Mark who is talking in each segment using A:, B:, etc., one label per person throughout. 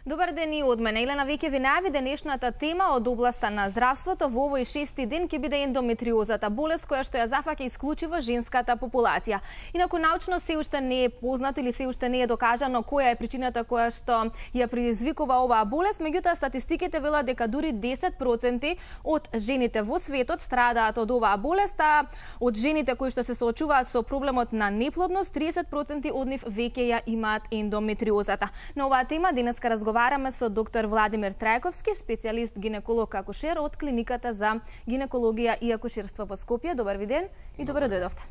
A: Добар ден и од мене. Елена веќе ви најави денешната тема од областа на здравството. Во овој 6-ти ден ќе биде ендометриозата, болест која што ја зафаќа исклучиво женската популација. Инаку научно се уште не е познато или се уште не е докажано која е причината која што ја предизвикува оваа болест, меѓутоа статистиките велат дека дури 10% од жените во светот страдаат од оваа болест, а од жените кои што се соочуваат со проблемот на неплодност, 30% од нив веќе ја имаат ендометриозата. На оваа тема денеска разговараме со доктор Владимир Трајковски, специјалист гинеколог-акушер од клиниката за гинекологија и акушерство во Скопје. Добар ви ден и добре дојдовте.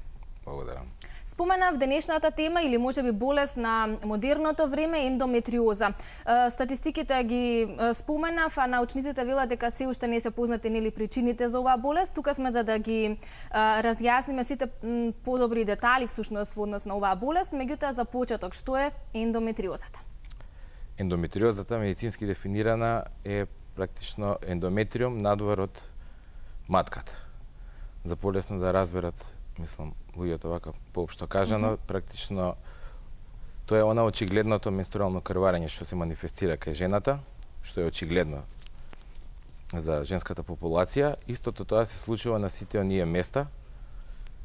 B: Благодарам.
A: Споменав денешната тема или можеби болест на модерното време ендометриоза. Статистиките ги споменав, а научниците велат дека се уште не се познати нели причините за оваа болест. Тука сме за да ги разјасниме сите подобри детали всушност во однос на оваа болест, меѓутоа за почеток што е ендометриозата?
B: Ендометриозата медицински дефинирана е практично ендометриум надвор од матката. За полесно да разберат, мислам, луѓето вака поопшто кажано, практично тоа е она очигледното менструално крварење што се манифестира кај жената, што е очигледно за женската популација. Истото тоа се случува на сите оние места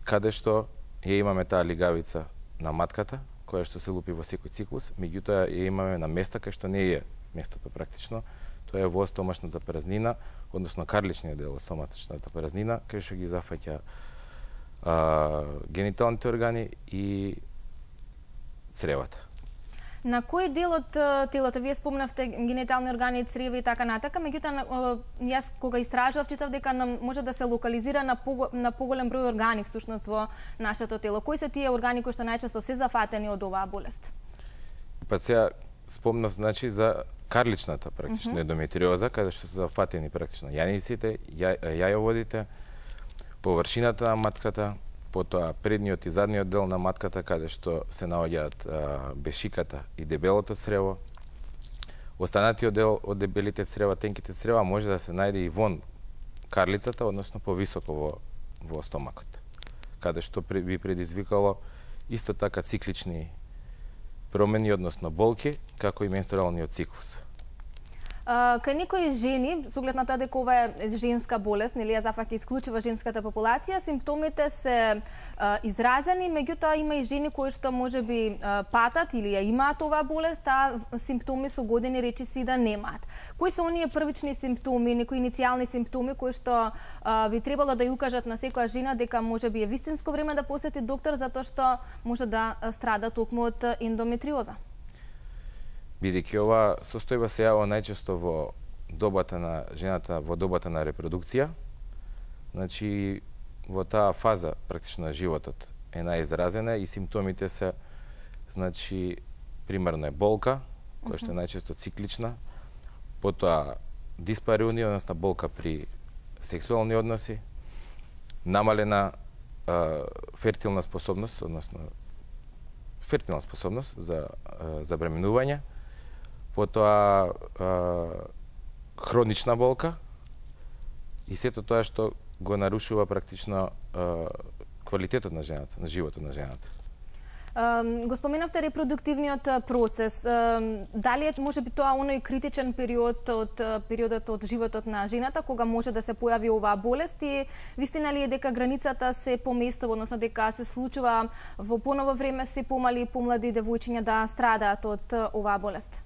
B: каде што ја имаме таа лигавица на матката, која што се лупи во секој циклус, меѓутоа ја имаме на места кај што не е местото практично, тоа е во стомашната празнина, односно карличниот дел од стомашната празнина, кај што ги зафаќа гениталните органи и цревата.
A: На кој дел од телото вие спомнавте генитални органи, црева и така натака, меѓутоа јас кога истражував читав дека може да се локализира на поголем број органи всушност во нашето тело. Кои се тие органи кои што најчесто се зафатени од оваа болест?
B: Па сега спомнав значи за карличната практично ендометриоза, каде што се зафатени практично јаниците, јајоводите, површината на матката, потоа предниот и задниот дел на матката, каде што се наоѓаат бешиката и дебелото црево. Останатиот дел од дебелите црева, тенките црева, може да се најде и вон карлицата, односно повисоко во стомакот, каде што би предизвикало исто така циклични промени, односно болки, како и менструалниот циклус.
A: Кај некои жени, со оглед на тоа дека ова е женска болест, нели ја зафаќа исклучиво женската популација, симптомите се изразени, меѓутоа има и жени кои што можеби патат или ја имаат оваа болест, а симптоми со години речиси да немаат. Кои се оние првични симптоми, некои иницијални симптоми кои што би требало да ја укажат на секоја жена дека можеби е вистинско време да посети доктор затоа што може да страда токму од ендометриоза?
B: Бидејќи ова состојба се јавува најчесто во добата на жената, во добата на репродукција, значи во таа фаза практично на животот е најизразена и симптомите се, значи, примерно е болка, која што е најчесто циклична, потоа диспариунија, односно болка при сексуални односи, намалена фертилна способност, односно фертилна способност за забременување, потоа хронична болка и сето тоа што го нарушува практично квалитетот на жената, на животот на жената.
A: Го споменавте репродуктивниот процес. Дали е можеби тоа оној критичен периодот од животот на жената кога може да се појави оваа болест и вистина ли е дека границата се поместува, односно дека се случува во поново време се помали и помлади девојчиња да страдаат од оваа болест?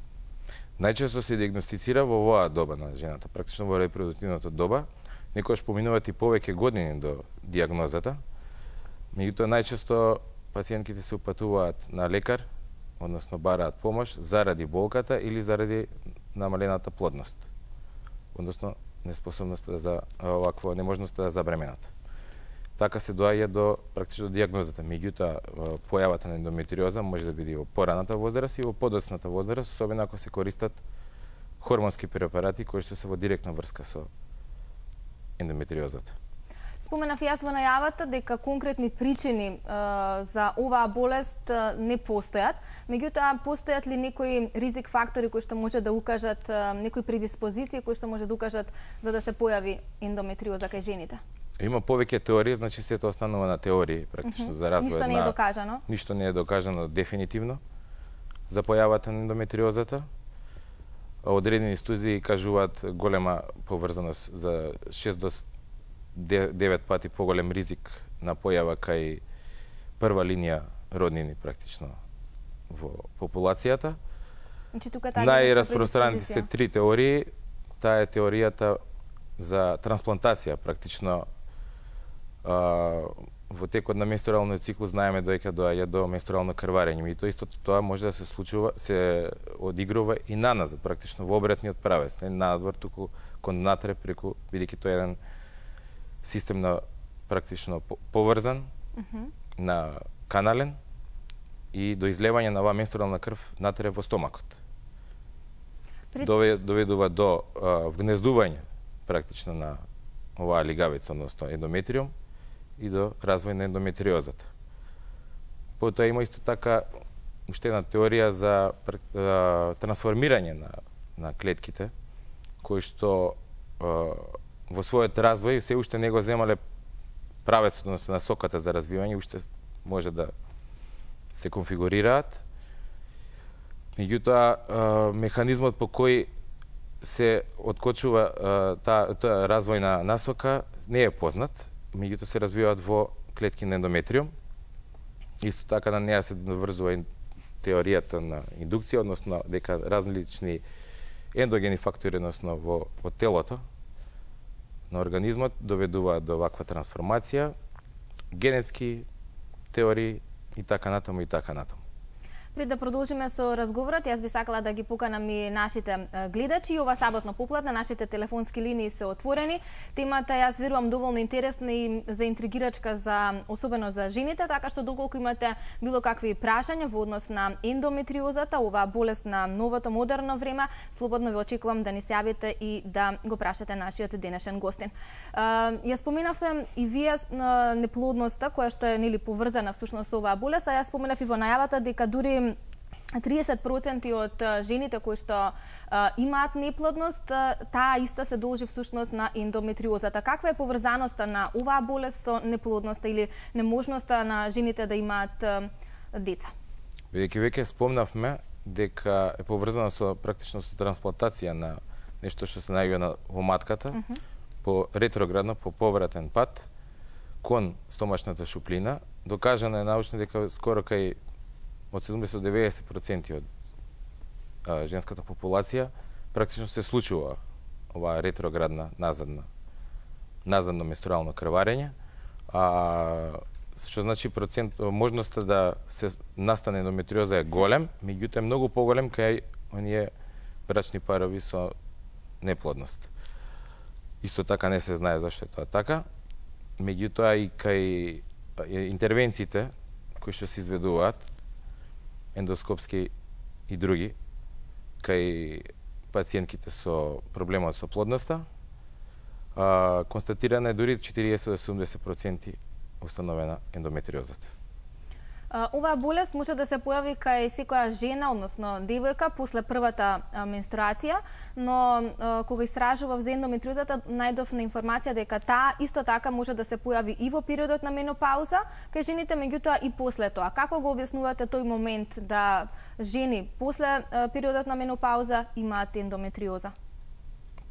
B: Најчесто се диагностицира во оваа доба на жената, практично во репродуктивната доба. Некојаш поминуваат и повеќе години до диагнозата. Меѓутоа најчесто пациентките се упатуваат на лекар, односно бараат помош заради болката или заради намалената плодност. Односно неспособноста за оваква неможноста да забременат. Така се доаѓа до практично диагнозата. Меѓутоа појавата на ендометриоза може да биде во пораната возраст и во подоцната возраст, особено ако се користат хормонски препарати кои што се во директна врска со ендометриозата.
A: Споменав јас во најавата дека конкретни причини за оваа болест не постојат, меѓутоа постојат ли некои ризик фактори кои што може да укажат, некои предиспозиции кои што може да укажат за да се појави ендометриоза кај жените?
B: Има повеќе теории, значи сето останува на теории, практично за развој.
A: Ништо не е докажано?
B: Ништо не е докажано дефинитивно за појавата на ендометриозата. Одредени студии кажуваат голема поврзаност за 6 до 9 пати поголем ризик на појава кај прва линија роднини практично во популацијата.
A: Значи,
B: најраспространети се 3 теории. Таа е теоријата за трансплантација. Практично во текот на менструалниот циклус знаеме дека доаѓа до менструално крварење. И тоа може да се случува, се одигрува и наназад, практично во обратниот правец, не надвор, туку кон натре преку, бидејќи тоа е еден системно практично поврзан на канален и до излевање на оваа менструална крв натре во стомакот. Доведува до вгнездување практично на оваа лигавица, односно ендометриум, и до развој на ендометриозата. Потоа има исто така уште една теорија за трансформирање на клетките, кои што во својот развој се уште не го земале правецот, односно насоката за развивање, уште може да се конфигурираат. Меѓутоа, механизмот по кој се откочува таа развојна насока не е познат, меѓутоа се развиваат во клетки на ендометриум. Исто така на неа се наврзува теоријата на индукција, односно дека различни ендогени фактори, односно во телото на организмот доведуваат до ваква трансформација, генетски теории и така натаму и така натаму.
A: Пред да продолжиме со разговорот, јас би сакала да ги поканам и нашите гледачи. Ова саботно попладне нашите телефонски линии се отворени. Темата, јас верувам, доволно интересна и заинтригирачка особено за жените, така што доколку имате било какви прашања во однос на ендометриозата, оваа болест на новото модерно време, слободно ве очекувам да ни се јавите и да го прашате нашиот денешен гостин. Ја споменавме и вие неплодноста која што е поврзана всушност со оваа болест, а јас споменав и во најавата дека дури 30% од жените кои што имаат неплодност, таа иста се должи всушност на ендометриозата. Каква е поврзаноста на оваа болест со неплодноста или неможноста на жените да имаат деца?
B: Бидејќи веќе спомнавме дека е поврзана со практично со трансплантација на нешто што се наоѓа во матката, по ретроградно, по повратен пат кон стомачната шуплина. Докажано е научно дека скоро кај од 70 до 90% од женската популација практично се случува оваа ретроградна назадно менструално крварење, што значи можноста да се настане ендометриоза е голем, меѓутоа е многу поголем кај оние брачни парови со неплодност. Исто така не се знае зашто е тоа така, меѓутоа и кај интервенциите кои што се изведуваат ендоскопски и други, кај пациентките со проблемот со плодноста, констатирана е дури 40-70% установена ендометриозата.
A: Оваа болест може да се појави кај секоја жена, односно девојка, после првата менструација, но кога истражував за ендометриозата, најдов на информација дека таа исто така може да се појави и во периодот на менопауза кај жените, меѓутоа и после тоа. Како го објаснувате тој момент да жени после периодот на менопауза имаат ендометриоза?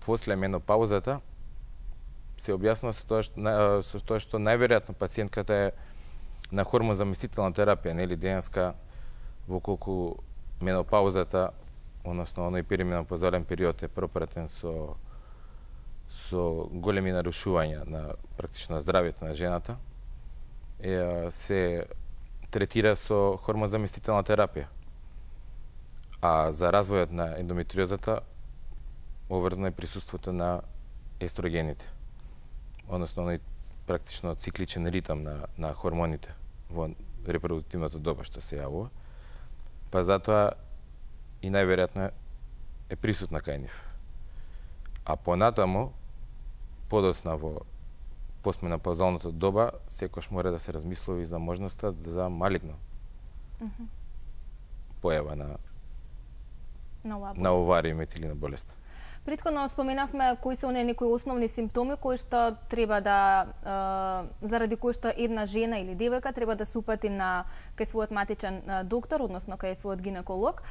B: После менопаузата се објаснува со тоа што најверојатно пациентката е на хормонзаместителна терапија, нели денеска, во колку менопаузата, односно оној перименопаузален период е пропратен со големи нарушувања на практично здравјето на жената, се третира со хормонзаместителна терапија. А за развојот на ендометриозата оврзано е присуството на естрогените, односно оној практично цикличен ритам на хормоните во репродуктивното доба што се јавува, па затоа и најверојатно е присутна кај нив. А понатаму, подоцна во постменопаузалното доба секојаш мора да се размислува и за можноста за малигно појава на овариумите или на болест.
A: Претходно споменавме кои се некои основни симптоми кои што треба да заради кои што една жена или девојка треба да се упати кај својот матичен доктор, односно кај својот гинеколог.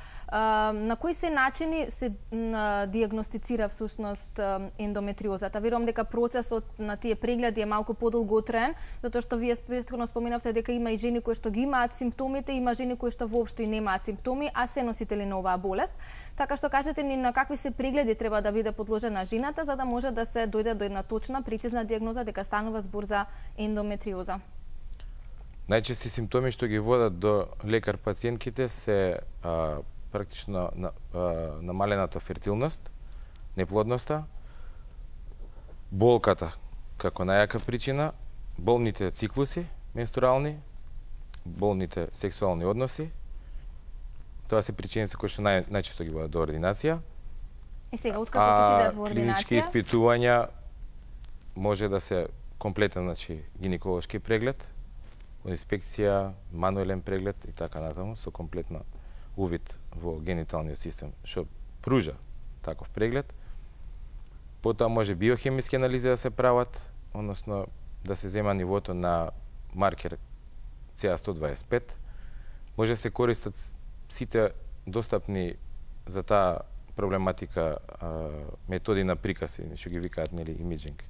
A: На кои се начини се дијагностицира всушност ендометриозата? Верувам дека процесот на тие прегледи е малку подолготраен, затоа што вие претходно споменавте дека има и жени кои што ги имаат симптомите, има жени кои што воопшто и немаат симптоми, а се носители на оваа болест. Така што кажете ни на какви се прегледи треба да биде подложена жената за да може да се дојде до една точна, прецизна дијагноза дека станува збор за ендометриоза.
B: Најчести симптоми што ги водат до лекар пациентките се практично намалената фертилност, неплодноста, болката како најака причина, болните циклуси менструални, болните сексуални односи. Тоа се причините кои што најчесто ги водат до ординација.
A: И сега, откако ќе идат во ординација?
B: Клинички испитувања може да се комплетен, гинеколошки преглед, инспекција, мануелен преглед и така натаму, со комплетна увид во гениталниот систем, што пружа таков преглед. Потоа може биохемиски анализи да се прават, односно да се зема нивото на маркер CA125. Може да се користат сите достапни за таа проблематика методи на приказ, што ги викаат имиджинг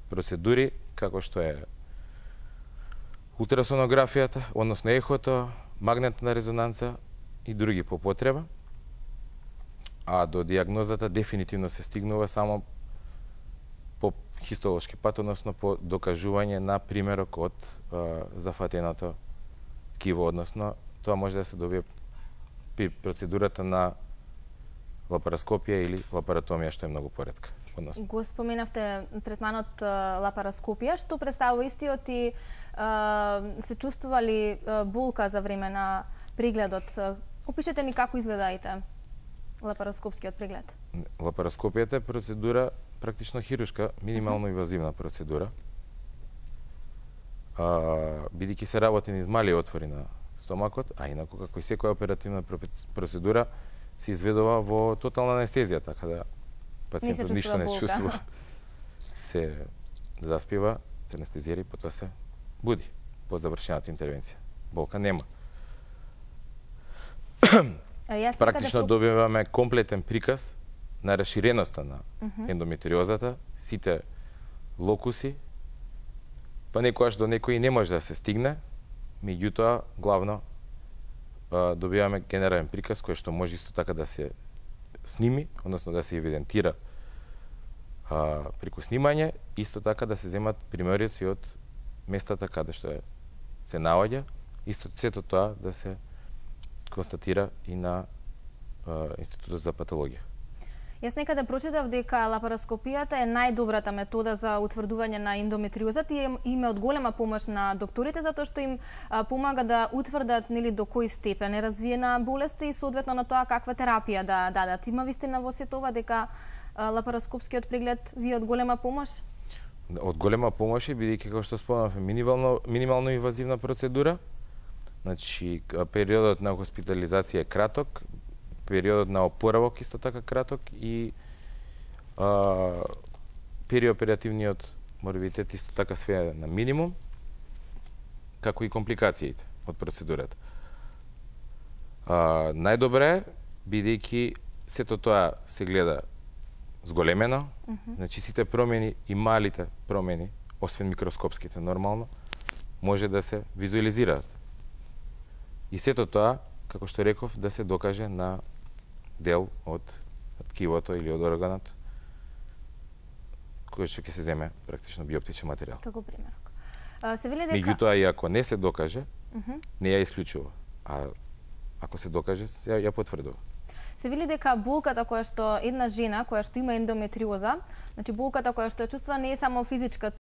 B: процедури, како што е ултрасонографијата, односно ехото, магнетна резонанца и други по потреба. А до дијагнозата дефинитивно се стигнува само по хистолошки пат, односно по докажување на примерок од зафатеното ткиво, односно тоа може да се добие при процедурата на лапароскопија или лапаротомија, што е многу поретка.
A: Го споменавте третманот лапароскопија, што представува истиот и се чувствували болка за време на прегледот. Опишете ни како изгледаите лапароскопскиот преглед.
B: Лапароскопијата е процедура практично хируршка, минимално инвазивна процедура. Бидејќи се работи низ мали отвори на стомакот, а инаку како и секоја оперативна процедура се изведува во тотална анестезија, така да пациентот ништо не чувствува. Се заспива, се анестезира и потоа се буди по завршената интервенција. Болка нема. Практично добиваме комплетен приказ на расширеноста на ендометриозата, сите локуси, па некојаш до некој не може да се стигне, меѓутоа главно добиваме генерален приказ кој што може исто така да се сними, односно да се евидентира преку снимање, исто така да се земат примериоци од местата каде што се наоѓа, исто сето тоа да се констатира и на Институтот за патологија.
A: Јас некаде прочитав дека лапароскопијата е најдобрата метода за утврдување на ендометриозата и има од голема помош на докторите затоа што им помага да утврдат до кој степен е развиена болест и соодветно на тоа каква терапија да дадат. Има вистина во сето ова дека лапароскопскиот преглед ви е од голема помош?
B: Од голема помош е, бидејќи како што спомнавме минимално инвазивна процедура. Значи периодот на хоспитализација е краток, периодот на опоравок исто така краток и периоперативниот морбидитет исто така сведен на минимум, како и компликациите од процедурата. Најдобре е, бидејќи сето тоа се гледа зголемено, значи сите промени и малите промени, освен микроскопските нормално, може да се визуализираат. И сето тоа, како што реков, да се докаже на дел од ткивото или од органот кој што ќе се земе практично биоптичен материјал.
A: Како примерок. Се вели дека
B: меѓутоа и ако не се докаже, не ја исклучува. А ако се докаже, ја потврдува.
A: Се вели дека болката која што една жена која што има ендометриоза, значи болката која што ја чувствува не е само физичка,